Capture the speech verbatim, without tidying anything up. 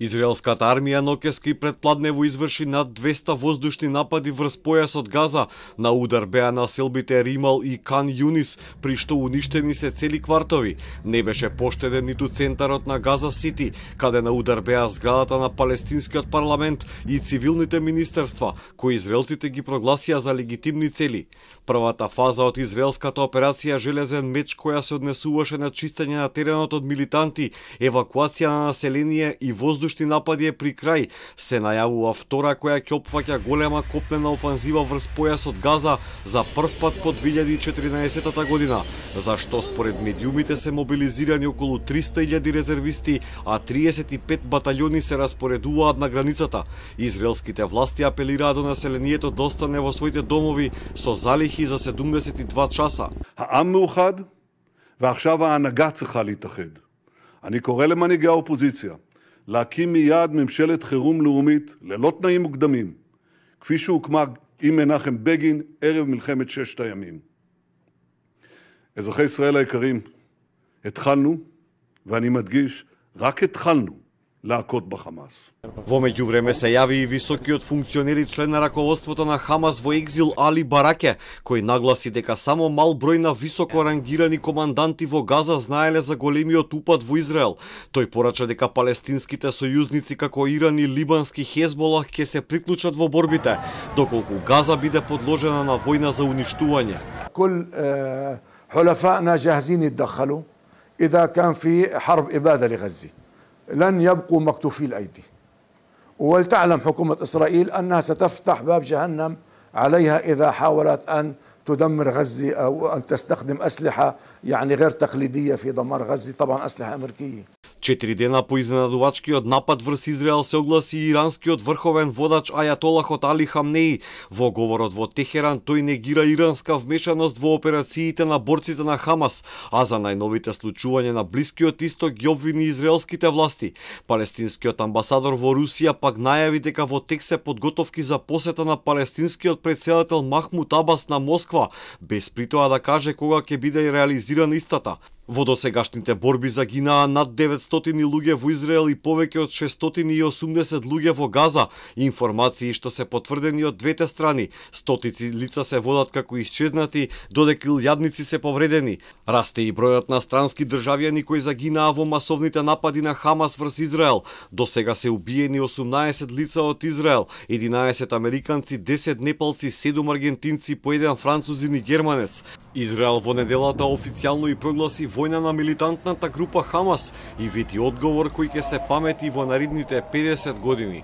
Израелската армија ноќеска и предпладнево изврши над двеста воздушни напади врз појасот Газа. На удар беа населбите Римал и Кан Юнис, при што уништени се цели квартови. Не беше поштеден ниту центарот на Газа Сити, каде на удар беа зградата на палестинскиот парламент и цивилните министерства, кои израелците ги прогласија за легитимни цели. Првата фаза од израелската операција Железен меч, која се однесуваше на чистење на теренот од милитанти, евакуација на население и воздушни напади е при крај. Се најавува втора која ќе опфаќа голема копнена офанзива врз појасот Газа за прв пат по две илјади и четиринаесетта година, зашто според медиумите се мобилизирани околу триста илјади резервисти, а триесет и пет баталјони се распоредуваат на границата. Израелските власти апелираат до населението да остане во своите домови со залихи за седумдесет и два часа. העם מאוחד, ועכשיו ההנהגה צריכה להתאחד. אני קורא למנהיגי האופוזיציה להקים מיד ממשלת חירום לאומית ללא תנאים מוקדמים, כפי שהוקמה עם מנחם בגין ערב מלחמת ששת הימים. אזרחי ישראל היקרים, התחלנו, ואני מדגיש, רק התחלנו להכות בחמאס. Во меѓувреме се јави и високиот функционер и член на раководството на Хамас во екзил Али Бараке, кој нагласи дека само мал број на високо рангирани команданти во Газа знаеле за големиот упад во Израел. Тој порача дека палестинските сојузници како Иран и либански Хезболах ќе се приклучат во борбите, доколку Газа биде подложена на војна за уништување. كل حلفائنا جاهزين يتدخلوا إذا كان في حرب إبادة لغزة. لن يبقوا مكتوفي الأيدي. ولتعلم حكومة إسرائيل أنها ستفتح باب جهنم عليها إذا حاولت أن تدمر غزة أو أن تستخدم أسلحة يعني غير تقليدية في دمار غزة، طبعا أسلحة أمريكية. Четири дена по изненадувачкиот напад врз Израел се огласи и иранскиот врховен водач Ајатолахот Али Хамнеи. Во говорот во Техеран тој негира иранска вмешаност во операциите на борците на Хамас, а за најновите случувања на Блискиот Исток ги обвини израелските власти. Палестинскиот амбасадор во Русија пак најави дека во тек се подготовки за посета на палестинскиот претседател Махмуд Абас на Москва, без при тоа да каже кога ќе биде реализирана истата. Во досегашните борби загинаа над деветстотини луѓе во Израел и повеќе од шестстотини и осумдесет луѓе во Газа. Информации што се потврдени од двете страни. Стотици лица се водат како исчезнати, додека илјадници се повредени. Расте и бројот на странски државјани кои загинаа во масовните напади на Хамас врз Израел. До сега се убиени осумнаесет лица од Израел, единаесет американци, десет непалци, седум аргентинци, по еден французин и германец. Израел во неделата официјално и прогласи војна на милитантната група Хамас и види одговор кој ќе се памети во наредните педесет години.